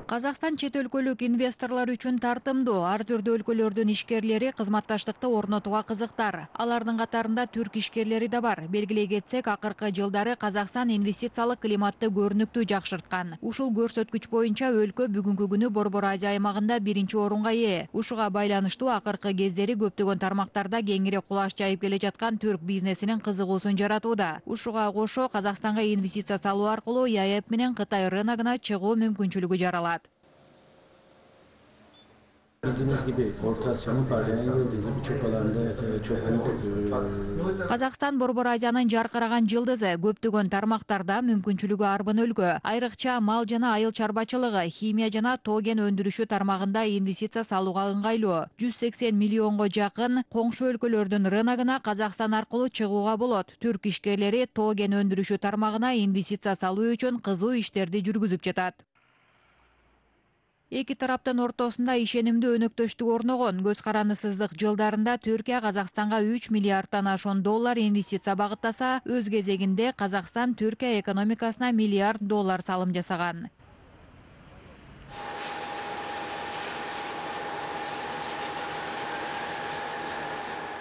Казакстан чет өлкөлүк инвесторлор үчүн тартымдуу. Ар түрдүү өлкөлөрдүн ишкерлери кызматташтыкты орнотууга кызыктар. Алардын катарында түрк ишкерлери да бар. Белгилей кетсек, акыркы жылдары Казакстан инвестициялык климатты көрүнүктүү жакшырткан. Ушул көрсөткүч боюнча өлкө бүгүнкү күнү Борбор Азия аймагында 1-орунга ээ. Ушуга байланыштуу акыркы кездери көптөгөн тармактарда кеңири кулаш жайып келе жаткан түрк бизнесинин кызыгуусун жаратууда. Ушуга кошо Казакстанга инвестиция салуу аркылуу ЯЭП менен Кытай рыногуна чыгуу мүмкүнчүлүгү жаралат. Bildiğiniz gibi Orta Asya'nın parlayan yıldızı birçok alanda çok büyük. Казакстан Борбор Азиянын жаркыраган жылдызы, көптөгөн тармактарда мүмкүнчүлүгү арбын өлкө. Айрыкча мал жана айыл чарбачылыгы, химия жана тоген өндүрүшү тармагында инвестиция салууга ыңгайлуу. 180 миллионго жакын коңшу өлкөлөрдүн рыногуна Казакстан аркылуу чыгууга болот. Түрк ишкерлери тоген өндүрүшү тармагына инвестиция салуу үчүн кызуу иштерди жүргүзүп жатат. Эки тараптын ортосунда ишенимдүү өнөктөштүк орногон. Көз карандысыздык жылдарында Түркия Казакстанга 3 миллиарддан ашуун доллар инвестиция багыттаса, өз кезегинде Казакстан Түркия экономикасына $1 миллиард салым жасаган.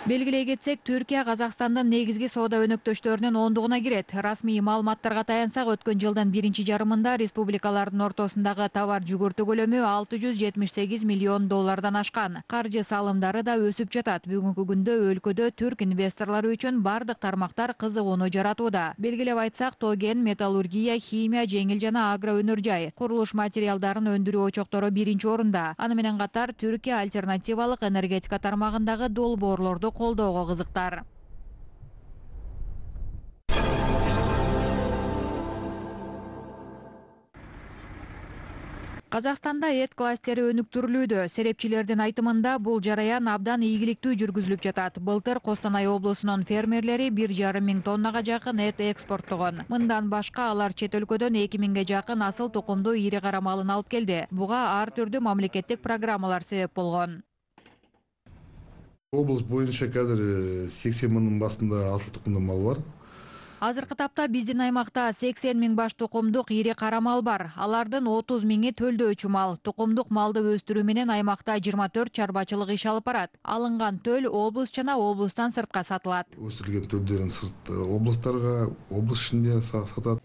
Белгилей кетсек, Түркия Казакстандын негизги соода өнөктөштөрүнүн ондугуна кирет. Расмий маалыматтарга таянсак, өткөн жылдын биринчи жарымында республикалардын ортосундагы товар жүгүртүү көлөмү $678 миллион ашкан. Каржы салымдары да өсүп жатат. Бүгүнкү күндө өлкөдө түрк инвесторлору үчүн бардык тармактар кызыгууну жаратууда. Белгилеп айтсак, тоген, металлургия, химия, жеңил жана агро өнөр жай, курулуш материалдарын өндүрүү очоктору 1-орунда. Аны менен катар Түркия альтернативалык энергетика тармагындагы долбоорлорду колдоого кызыктар. Казакстанда эт кластери өнүктүрүлүүдө. Серепчилердин айтымында бул жараян абдан ийгиликтүү жүргүзүлүп жатат. Былтыр Костанай облусунун фермерлери 1,5 миң тоннага жакын эт экспорттогон. Мындан башка алар чет өлкөдөн 2 миңге жакын асыл тукумдуу ири кара малын алып келди. Буга ар түрдүү мамлекеттик программалар себеп болгон. Облус боюнча қазір 80 мыңның басында асыл тұқымды мал бар. Азыркы тапта биздин аймакта 80 миң баш тукумдук ири кара мал бар. Алардын 30 миңи төлдөөчү мал. Тукумдук малды өстүрүү менен аймакта 24 чарбачылык иш алып барат. Алынган төл облус жана облустан сыртка сатылат. Өсүрүлгөн төлдөрүн сырт облустарга, облус ичинде сатат.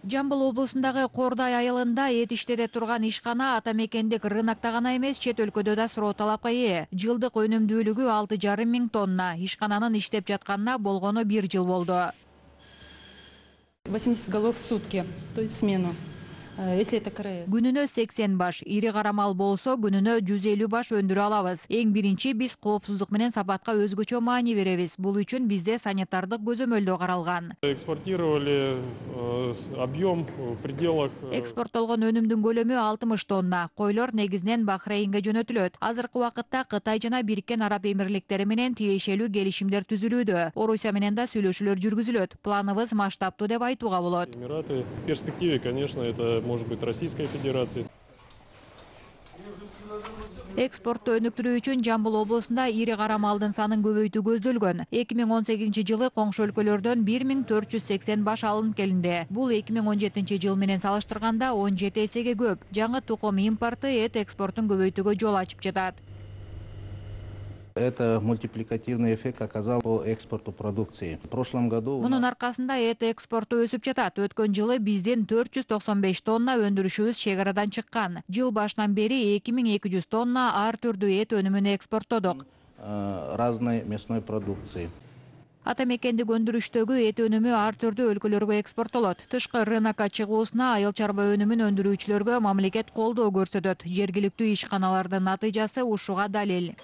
Жамбыл облусундагы Кордай айылында эт иштете турган ишкана ата мекендик рынокто гана эмес, чет өлкөдө да суроо талапка ээ. Жылдык өнүмдүүлүгү 6,5 миң тонна. Ишкананын иштеп жатканына болгону 1 жыл болду. 80 голов в сутки, то есть смену. Если это КРС. Күнүнө 80 баш, ири кара мал болсо күнүнө 150 баш өндүрө алабыз. Эң биринчи биз коопсуздук менен сапатка өзгөчө маани беребиз. Бул үчүн бизде санитардык көзөмөлдөө каралган. Экспортировали объем в пределах. Экспорттолгон өнүмдүн көлөмү 60 тонна. Койлор негизинен Бахрейнге жөнөтүлөт. Азыркы убакытта Кытай жана Бириккен Араб Эмирликтери менен тиешелүү келишимдер түзүлүүдө. Орусия менен да сүйлөшүүлөр жүргүзүлөт. Планыбыз масштабтуу деп айтууга болот. Эмираты в перспективе, конечно, это может быть Российской Федерации. Экспортто өнүктүрүү үчүн Жамбыл облусунда ири кара малдын санын көбөйтүү көздөлгөн. 2018 жылы коңшу өлкөлөрдөн 1480 баш алынып келинди. Бул 2017 жыл менен салыштырганда 17 эсеге көп. Жаңы тукум импорты эт экспортун көбөйтүүгө жол ачып жатат. Это мультипликативный эффект оказал по экспорту продукции. В прошлом году... Мунун аркасында эт экспорту өсүп жатат. Өткөн жылы биздин 495 тонна өндүрүшүбүз чек арадан чыккан. Жыл башынан бери 2200 тонна ар түрдүү эт өнүмүн экспорттодук. Разной мясной продукции. Ата мекендик өндүрүштөгү эт өнүмү ар түрдүү өлкөлөргө экспорттолот. Тышкы рынокко чыгуусуна айыл чарба өнүмүн өндүрүүчүлөргө мамлекет колдоо көрсөтөт. Жергиликтүү ишканалардын натыйжасы ушуга далил.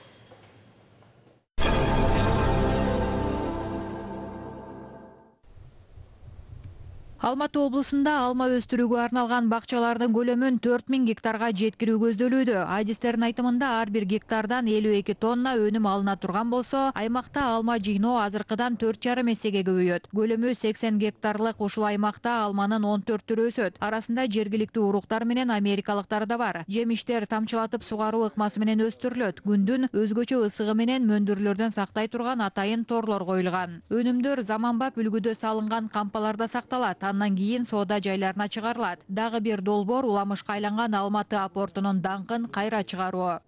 Алматы облусунда алма өстүрүүгө арналган бакчалардын көлөмүн 4000 гектарга жеткирүү көздөлүүдө. Айдистердин айтымында ар бир гектардан 52 тонна өнүм алына турган болсо, аймакта алма жыйноо азыркыдан 4,5 эсеге көбөйөт. Көлөмү 80 гектарлык ушул аймакта алманын 14 түрү өсөт. Арасында жергиликтүү уруктар менен америкалыктар да бар. Жемиштер тамчылатып сугаруу ыкмасы менен өстүрүлөт. Күндүн өзгөчө ысыгы менен мөндүрлөрдөн сактай турган атайын торлор коюлган. Өнүмдөр заманбап үлгүдө салынган кампаларда сакталат. андан кийин соода жайларына чыгарылат. Дагы бир долбоор уламышка айланган Алматы портунун даңкын кайра чыгаруу.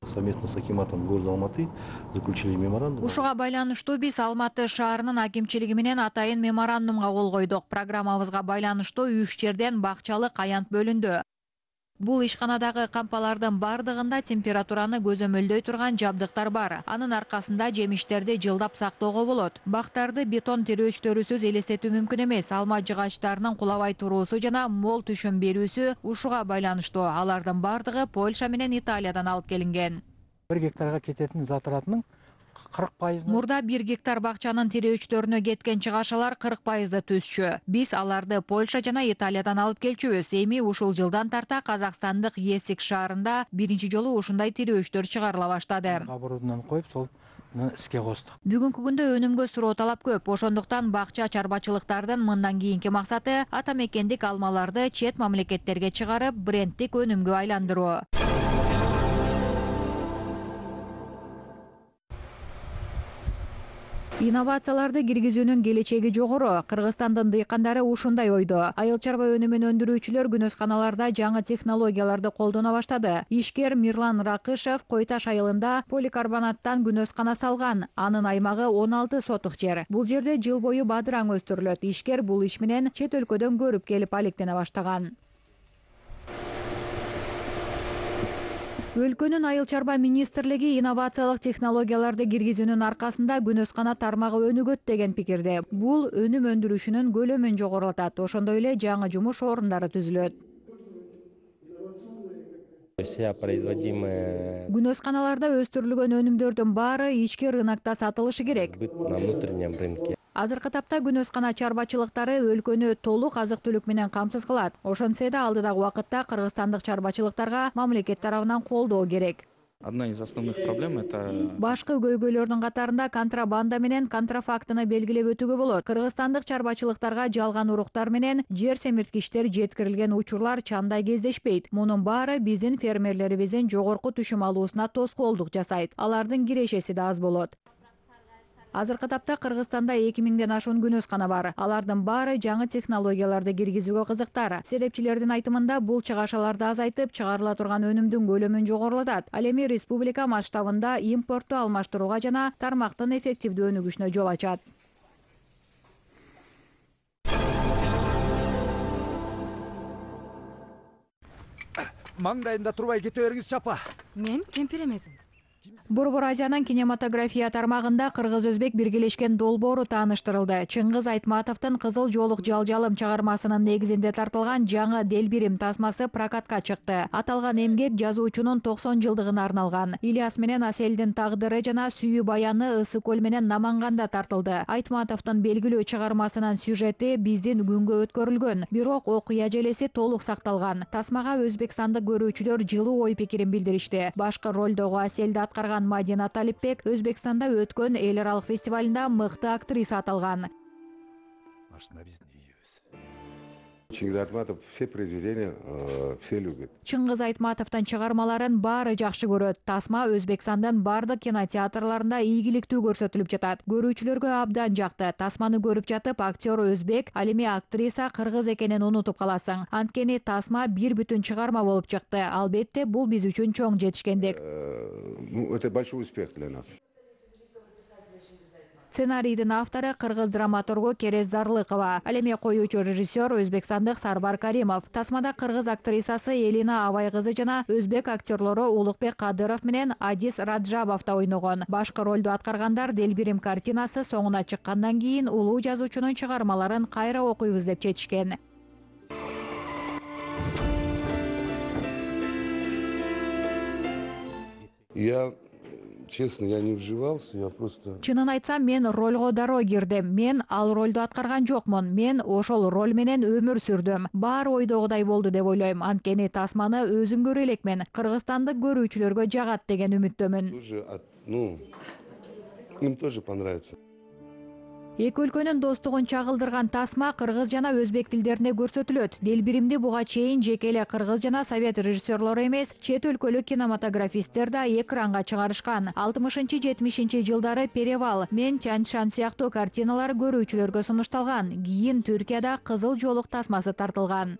Совместно с акиматом города Алматы заключили меморандум. Ушуга байланыштуу биз Алматы шаарынын акимчилиги менен атайын меморандумга кол койдук. Программабызга байланыштуу 3 жерден бакчалык аянт бөлүндү. Бул ишканадагы кампалардын бардыгында температураны көзөмөлдөй турган жабдыктар бар. Анын аркасында жемиштерди жылдап сактоого болот. Бактарды бетон тирөөчтөрүсүз элестетүү мүмкүн эмес. Алма жыгачтарынын кулабай туруусу жана мол түшүм берүүсү ушуга байланыштуу. Алардын бардыгы Польша менен Италиядан алып келинген. 1 гектарга кететін затыратының 40%. Мурда 1 гектар бакчанын тирөөчтөрүнө кеткен чыгашалар 40%-ды түзчү. Биз аларды Польша жана Италиядан алып келчүбүз. Эми ушул жылдан тарта Казакстандык Есик шаарында биринчи жолу ушундай тирөөчтөр чыгарыла баштады. Оборудование коюп, сол иске костук. Бүгүнкү күндө өнүмгө суроо талап көп. Ошондуктан бакча чарбачылыктардын мындан кийинки максаты ата мекендик алмаларды чет мамлекеттерге чыгарып, брендтик өнүмгө айландыруу. Инновацияларды киргизүүнүн келечеги жогору. Кыргызстандын дыйкандары ушундай ойдо. Айыл чарба өнүмүн өндүрүүчүлөр күнөсканаларда жаңы технологияларды колдоно баштады. Ишкер Мирлан Ракышев Кой Таш айылында поликарбонаттан күнөскана салган. Анын аймагы 16 сотук жер. Бул жерде жыл бою бадыраң өстүрүлөт. Ишкер бул иш менен чет өлкөдөн көрүп келип алектене баштаган. Өлкөнүн айыл чарба министрлиги инновациялык технологияларды киргизүүнүн аркасында күнөскана тармагы өнүгөт деген пикирде. Бул өнүм өндүрүшүнүн көлөмүн жогорулатат. Ошондой эле жаңы жумуш орундары түзүлөт. Күнөсканаларда өстүрүлгөн өнүмдөрдүн баары ички рынокто сатылышы керек. На внутреннем рынке. Азыркы тапта күнөскана чарбачылыктары өлкөнү толук азык-түлүк менен камсыз кылат. Ошентсе да алдыдагы убакытта кыргызстандык чарбачылыктарга мамлекет тарабынан колдоо керек. Одна из основных проблем это Башкы көйгөйлөрдүн катарында контрабанда менен контрафактыны белгилеп өтүүгө болот. Кыргызстандык чарбачылыктарга жалган уруктар менен жер семирткичтер жеткирилген учурлар чандай кездешпейт. Мунун баары биздин фермерлерибиздин жогорку түшүм алуусуна тоскоолдук жасайт. Алардын кирешеси да аз болот. Азыркы тапта Кыргызстанда 2000ден ашуун күнөскана бар. Алардын баары жаңы технологияларды киргизүүгө кызыктар. Серепчилердин айтымында бул чыгашаларды азайтып, чыгарыла турган өнүмдүн көлөмүн жогорулатат. Ал эми республика масштабында импортту алмаштырууга жана тармактын эффективдүү өнүгүшүнө жол ачат. Маңдайында турбай кете бериңиз чапа. Мен кемпир эмесмин. Борбор Азиянын кинематография тармагында кыргыз-өзбек биргелешкен долбоору тааныштырылды. Чыңгыз Айтматовдун Кызыл жоолук жалжалым чыгармасынын негизинде тартылган жаңы Делбирим тасмасы прокатка чыкты. Аталган эмгек жазуучунун 90 жылдыгына арналган. Ильяс менен Аселдин тагдыры жана сүйүү баяны Ысык көл менен Наманганда тартылды. Айтматовдун белгилүү чыгармасынын сюжети биздин күнгө өткөрүлгөн, бирок окуя желеси толук сакталган. Тасмага өзбекстандык көрүүчүлөр жылуу ой пикирин билдиришти. Башкы ролдогу Аселди аткарган Мадина Талипбек Өзбекстанда өткөн эл аралык фестивалында мыкты актриса аталган. Машина биздин үйүбүз. Чингиз Айтматов все произведения все любят. Чыңгыз Айтматовдун чыгармаларын баары жакшы көрөт. Тасма Өзбекстандын бардык кинотеатрларында ийгиликтүү көрсөтүлүп жатат. Көрүүчүлөргө абдан жакты. Тасманы көрүп жатып, актер өзбек, ал эми актриса кыргыз экенин унутуп каласың. Анткени Тасма бир бүтүн чыгарма болуп чыкты. Албетте, бул биз үчүн чоң жетишкендик. Это большой успех для нас. Сценарийдин автору кыргыз драматургу Керез Зарлыкова. Ал эми коюучу режиссер өзбекстандык Сарбар Каримов. Тасмада кыргыз актрисасы Элина Абай кызы жана өзбек актерлору Улукбек Кадыров менен Адис Раджабов да ойногон. Башкы ролду аткаргандар Делбирим картинасы соңуна чыккандан кийин улуу жазуучунун чыгармаларын кайра окуйбуз деп чечишкен. Честно, я не вживался, я просто... Чынын айтсам, мен ролго дароо кирдим. Мен ал ролду аткарган жокмун. Мен ошол роль менен өмүр сүрдүм. Баары ойдогудай болду деп ойлойм. Анткени Тасманы өзүм көрө элекмин. Кыргызстандык көрүүчүлөргө жагат деген үмүттөмүн. Им тоже понравится. Эки өлкөнүн достугун чагылдырган тасма кыргыз жана өзбек тилдеринде көрсөтүлөт. Делбиримди буга чейин жеке эле кыргыз жана совет режиссерлору эмес, чет өлкөлүк кинематографисттер да экранга чыгарышкан. 60-70 жылдары Перевал, Мен Тяньшан сыяктуу картиналар көрүүчүлөргө сунушталган. Кийин Түркияда кызыл жолук тасмасы тартылган.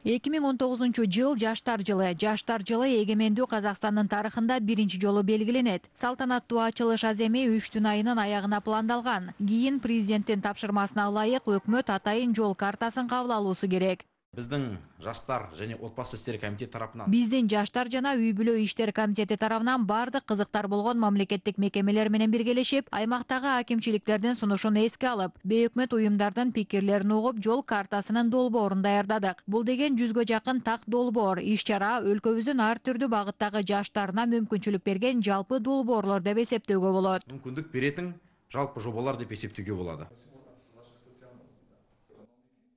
2019 жыл Жаштар жылы. Жаштар жылы эгемендүү Казакстандын тарыхында биринчи жолу белгиленет. Салтанаттуу ачылыш аземи 3 түн айынын аягына пландалган. Кийин президенттин тапшырмасына ылайык өкмөт атайын жол картасын кабыл алуусу керек. Биздин жаштар және отбасы иштери комитети тарапынан Биздин жаштар жана үй бүлө иштер комитети тарабынан бардык кызыктар болгон мамлекеттик мекемелер менен биргелешип, аймактагы акимчиликтердин сунушун эске алып, бейөкмөт уюмдардын пикирлерин угуп, жол картасынын долбоорун даярдадык. Бул деген 100гө жакын так долбоор, иш-чара өлкөбүздүн ар түрдүү багыттагы жаштарына мүмкүнчүлүк берген жалпы долбоорлор деп эсептөөгө болот. Мүмкүндүк беретін жалпы жобалар деп эсептөөгө болот.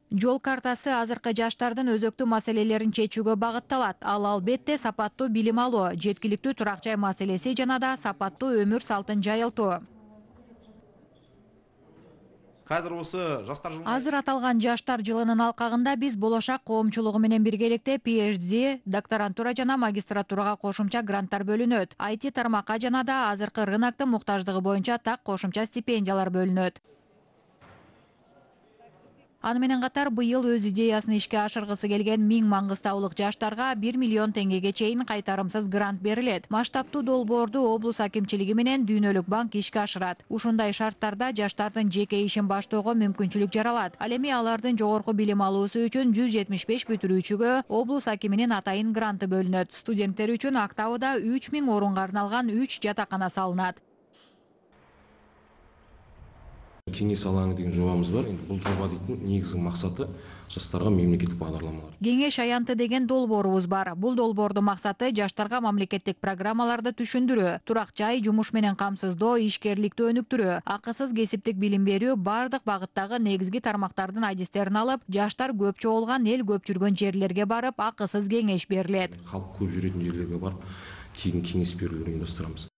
Жол картасы азыркы жаштардын өзөктүү маселелерин чечүүгө багытталат. Ал албетте сапаттуу билим алуу, жеткиликтүү турак жай маселеси жана да сапаттуу өмүр салтын жайылтуу. Азыр аталган жаштар жылынын алкагында биз болошак коомчулугу менен биргеликте PhD, докторантура жана магистратурага кошумча гранттар бөлүнөт. IT тармакка жана да азыркы рыноктун муктаждыгы боюнча так кошумча стипендиялар бөлүнөт. Аны менен катар быйыл өз идеясын ишке ашыргысы келген 1000 маңгыстаулык жаштарга 1 миллион теңгеге чейин кайтарымсыз грант берилет. Масштабтуу долбоорду облус акимчилиги менен Дүйнөлүк банк ишке ашырат. Ушундай шарттарда жаштардын жеке ишин баштоого мүмкүнчүлүк жаралат. Ал эми алардын жогорку билим алуусу үчүн 175 бүтүрүүчүгө облус акиминин атайын гранты бөлүнөт. Студенттер үчүн Актауда 3000 орунга арналган 3 жатакана салынат. Кеңес алаңы деген жобамыз бар. Бул жоба дейтин негизги максаты жаштарга мемлекеттик багдарламалар. Кеңеш аянты деген долбоорубуз бар. Бул долбоордун максаты жаштарга мамлекеттик программаларды түшүндүрүү, турак жай, жумуш менен камсыздоо, ишкерликти өнүктүрүү, акысыз кесиптик билим берүү, бардык багыттагы негизги тармактардын адистерин алып, жаштар көп чогулган, эл көп жүргөн жерлерге барып, акысыз кеңеш берилет. Халк көп жүрөтүн жерлерге барып, тегин кеңеш берүүлөрүн уюмдастырабыз.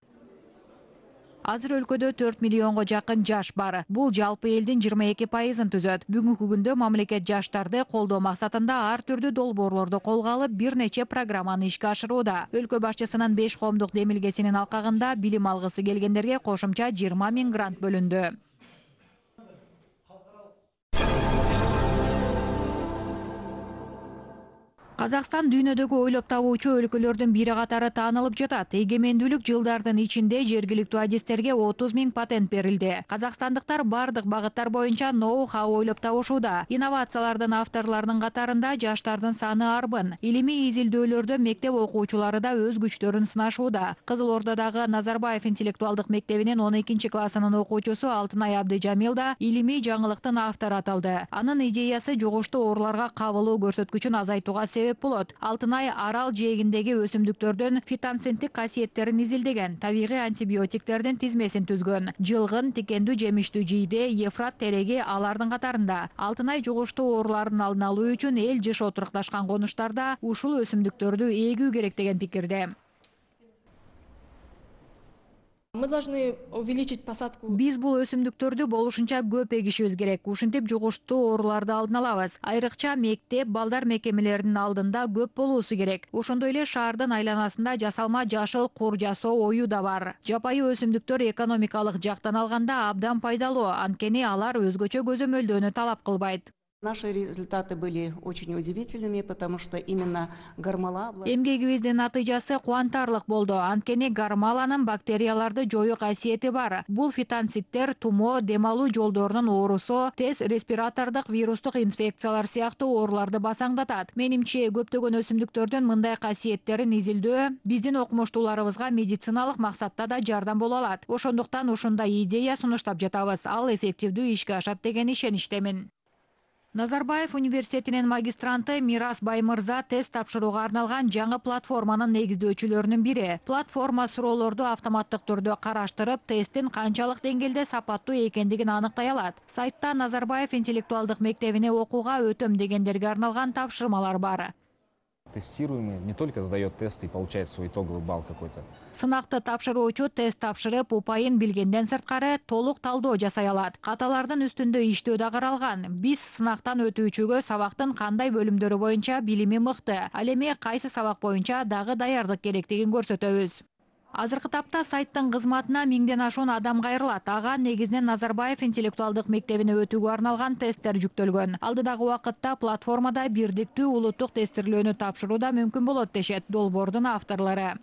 Азыр өлкөдө 4 миллионго жакын жаш бар. Бул жалпы элдин 22%-ын түзөт. Бүгүнкү күндө мамлекет жаштарды колдоо максатында ар түрдүү долбоорлорду колго алып, бир нече программаны ишке ашырууда. Өлкө башчысынын 5 коомдук демилгесинин алкагында билим алгысы келгендерге кошумча 20 000 грант бөлүндү. Казакстан дүйнөдөгү ойлоп табуучу өлкөлөрдүн бири катары таанылып жатат. Эгемендүүлүк жылдардын ичинде жергиликтүү адистерге 30 000 патент берилди. Казакстандыктар бардык багыттар боюнча ноу-хау ойлоп табышууда. Инновациялардын авторлорунун катарында жаштардын саны арбын. Илимий изилдөөлөрдө мектеп окуучулары да өз күчтөрүн сынашууда. Кызыл Ордодагы Назарбаев интеллектуалдык мектебинин 12 классынын окуучусу Алтынай Абдыжамил да илимий жаңылыктын автору аталды. Анын идеясы жугуштуу ооруларга кабылуу көрсөткүчүн азайтууга себеп болот. Алтынай арал жээгиндеги өсүмдүктөрдүн фитонценттик касиеттерин изилдеген, табигый антибиотиктердин тизмесин түзгөн. Жылгын, тикендүү жемиштүү жийде, Ефрат тереги алардын катарында. Алтынай жугуштуу оорулардын алдын алуу үчүн эл жыш отурукташкан конуштарда ушул өсүмдүктөрдү эгүү керек деген пикирде. Мы должны увеличить посадку. Биз бул өсүмдүктөрдү болушунча көп эгишибиз керек. Ушинтип жугуштуу ооруларды алдын алабыз. Айрыкча мектеп, балдар мекемелеринин алдында көп болуусу керек. Ошондой эле шаардын айланасында жасалма жашыл кур жасоо ою да бар. Жапайы өсүмдүктөр экономикалык жактан алганда абдан пайдалуу, анткени алар өзгөчө көзөмөлдөөнү талап кылбайт. Наши результаты были очень удивительными, потому что именно гармала... Эмгегибиздин натыйжасы кубантарлык болду. Анткени гармаланын бактерияларды жоюу касиети бар. Бул фитонциттер тумо, дем алуу жолдорунун оорусу, тез респиратордук вирустук инфекциялар сыяктуу ооруларды басаңдатат. Менимче көптөгөн өсүмдүктөрдүн мындай касиеттерин изилдөө биздин окумуштууларыбызга медициналык максатта да жардам боло алат. Ошондуктан ушундай идея сунуштап жатабыз. Ал эффективдүү ишке ашат деген ишеничтемин. Назарбаев университетинин магистранты Мирас Баймырза тест тапшырууга арналган жаңы платформанын негиздөөчүлөрүнүн бири. Платформа суроолорду автоматтык түрдө караштырып, тесттин канчалык деңгээлде сапаттуу экендигин аныктай алат. Сайтта Назарбаев интеллектуалдык мектебине окууга өтөм дегендерге арналган тапшырмалар бар. Тестируемый не только сдает тест и получает свой итоговый балл какой-то. Сынакты тапшыруучу тест тапшырып, упайын билгенден сырткары толук талдоо жасай алат. Каталардын үстүндө иштөө да каралган. Биз сынактан өтүүчүгө сабактын кандай бөлүмдөрү боюнча билими мыкты, ал эми кайсы сабак боюнча дагы даярдык керектигин көрсөтөбүз. Азыркы тапта сайттын кызматына 1000ден ашуун адам кайрылат. Ага негизинен Назарбаев интеллектуалдык мектебине өтүүгө арналган тесттер жүктөлгөн. Алдыдагы убакытта платформада бирдиктүү улуттук тестирлөөнү тапшыруу да мүмкүн болот дешет долбоордун авторлору.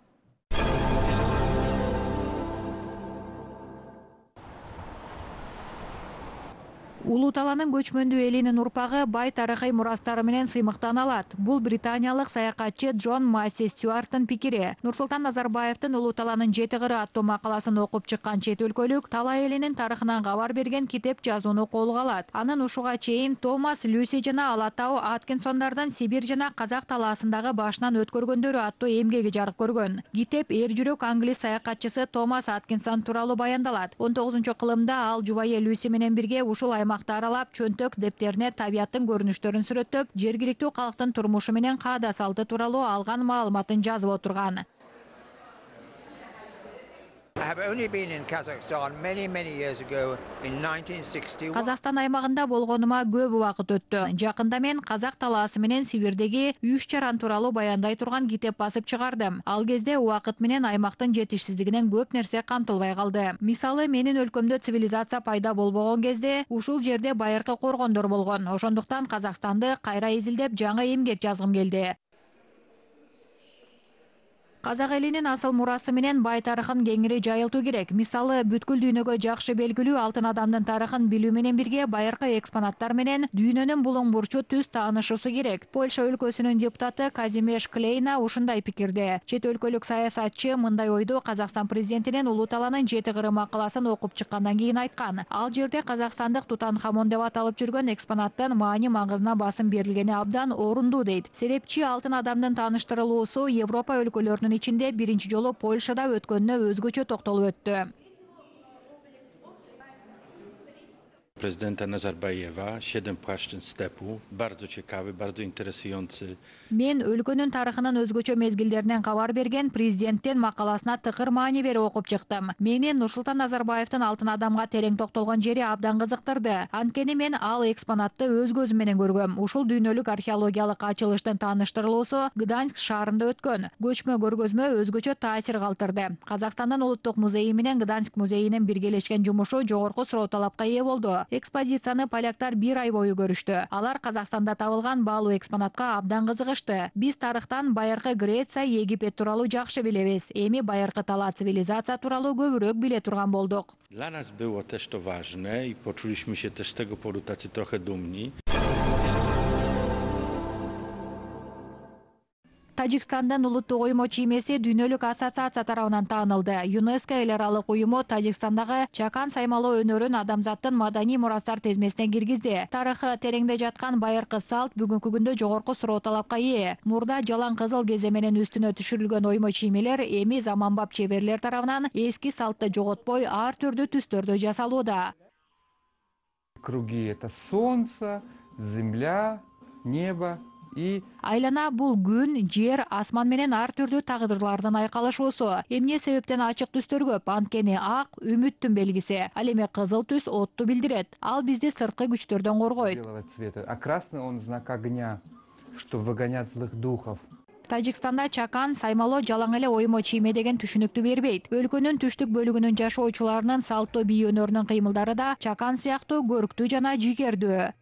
Улуу талаанын көчмөндүү элинин урпагы бай тарыхый мурастары менен сыймыктана алат. Бул британиялык саякатчы Джон Масси Стюарттын пикири. Нурсултан Назарбаевдин Улуу талаанын 7 кыры аттуу макаласын окуп чыккан чет өлкөлүк талаа элинин тарыхынан кабар берген китеп жазууну колго алат. Анын ушуга чейин Томас Люси жана Алатау Аткинсондордун Сибирь жана Казак талаасындагы башынан өткөргөндөрү аттуу эмгеги жарык көргөн. Китеп эр жүрөк англис саякатчысы Томас Аткинсон тууралуу баяндалат. 19-кылымда ал жубайы Люси менен бирге ушул аралап, чөнтөк дептерине табияттын көрүнүштөрүн сүрөттөп, жергиликтүү калктын турмушу менен каада салты тууралуу алган маалыматын жазып отурган. Казакстан аймагында болгонума көп убакыт өттү. Жакында мен Казак талаасы менен Сибирдеги үч жаран тууралуу баяндай турган китеп басып чыгардым. Ал кезде убакыт менен аймактын жетишсиздигинен көп нерсе камтылбай калды. Мисалы, менин өлкөмдө цивилизация пайда болбогон кезде ушул жерде байыркы коргондор болгон. Ошондуктан Казакстанды кайра изилдеп жаңы эмгек жазгым келди. Казак элинин асыл мурасы менен бай тарыхын кеңири жайылтуу керек. Мисалы, бүткүл дүйнөгө жакшы белгилүү алтын адамдын тарыхын билүү менен бирге байыркы экспонаттар менен дүйнөнүн булуң бурчу түз таанышуусу керек. Польша өлкөсүнүн депутаты Казимеш Клейна ушундай пикирде. Чет өлкөлүк саясатчы мындай ойду Казакстан президентинин Улуу талаанын 7 кыры макаласын окуп чыккандан кийин айткан. Ал жерде казакстандык Тутанхамон деп аталып жүргөн экспонаттын маани маңызына басым берилгени абдан орундуу дейт. Себепчи алтын адамдын тааныштырылуусу Европа өлкөлөрүнүн ичинде биринчи жолу Польшада өткөнүнө өзгөчө токтолуп өттү. Prezydenta Nazarbayewa, 7 płaszczyzn stepu, bardzo ciekawy, bardzo interesujący. Мен өлкөнүн тарыхынын өзгөчө мезгилдеринен кабар берген президенттин макаласына тыкыр маани берип окуп чыктым. Мени Нурсултан Назарбаевдин алтын адамга терең токтолгон жери абдан кызыктырды. Анткени мен ал экспонатты өз көзүм менен көргөм. Ушул дүйнөлүк археологиялык ачылыштын тааныштырылуусу Гданьск шаарында өткөн. Көчмө көргөзмө өзгөчө таасир калтырды. Казакстандын улуттук музейи менен Гданьск музейинин биргелешкен жумушу жогорку суроо талапка ээ болду. Экспозицияны поляктар 1 ай бою көрүштү. Алар Казакстанда табылган баалуу экспонатка абдан кызыгышты. Биз тарыхтан байыркы Греция, Египет тууралуу жакшы билебиз. Эми байыркы талаа цивилизация тууралуу көбүрөөк биле турган болдук. Dla nas było też to ważne i poczuliśmy się też z tego powodu tacy trochę dumni. Тажикстандын улуттук уюму чиймеси дүйнөлүк ассоциация тарабынан таанылды. ЮНЕСКО эл аралык уюму Тажикстандагы чакан саймалоо өнөрүн адамзаттын маданий мурастар тизмесине киргизди. Тарыхы тереңде жаткан байыркы салт бүгүнкү күндө жогорку суроо талапка ээ. Мурда жалаң кызыл кезе менен үстүнө түшүрүлгөн оймо чиймелер эми заманбап чеберлер тарабынан эски салтты жоготпой ар түрдүү түстөрдө жасалууда. Круги — это солнце, земля, небо. Айлана бул күн, жер, асман менен ар түрдүү тагдырлардын айкалышуусу. Эмне себептен ачык түстөр көп? Анткени ак үмүттүн белгиси. Ал эми кызыл түс отту билдирет. Ал бизди сырткы күчтөрдөн коргойт. А красный он знак огня, что выгонять злых духов. Тажикстанда чакан саймалоо жалаң эле оймо чийме деген түшүнүктү бербейт. Өлкөнүн түштүк бөлүгүнүн жашоочуларынын салттуу бий өнөрүнүн кыймылдары да чакан сыяктуу көрктүү жана жигердүү.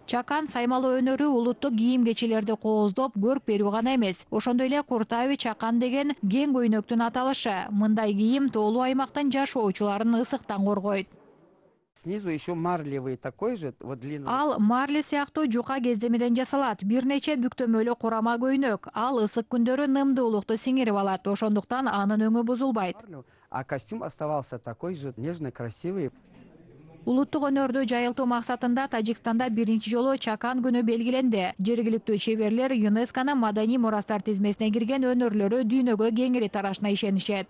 Чакан саймалоо өнөрү улуттук кийим-кечилерди кооздоп, көрк берүү гана эмес. Ошондой эле Куртави чакан деген кең көйнөктүн аталышы. Мындай кийим тоолуу аймактын жашоочуларын ысыктан коргойт. Снизу еще марлевый такой же, вот длинный. Ал марли сыяктуу жука кездемеден жасалат. Бир нече бүктөмөлүү курама көйнөк. Ал ысык күндөрү нымдуулукту сиңирип алат. Ошондуктан анын өңү бузулбайт. А костюм оставался такой же нежный, красивый. Улуттук өнөрдү жайылтуу максатында Тажикстанда биринчи жолу чакан күнү белгиленди. Жергиликтүү чеберлер ЮНЕСКОнун маданий мурастар тизмесине кирген өнөрлөрү дүйнөгө кеңири тарашына ишенишет.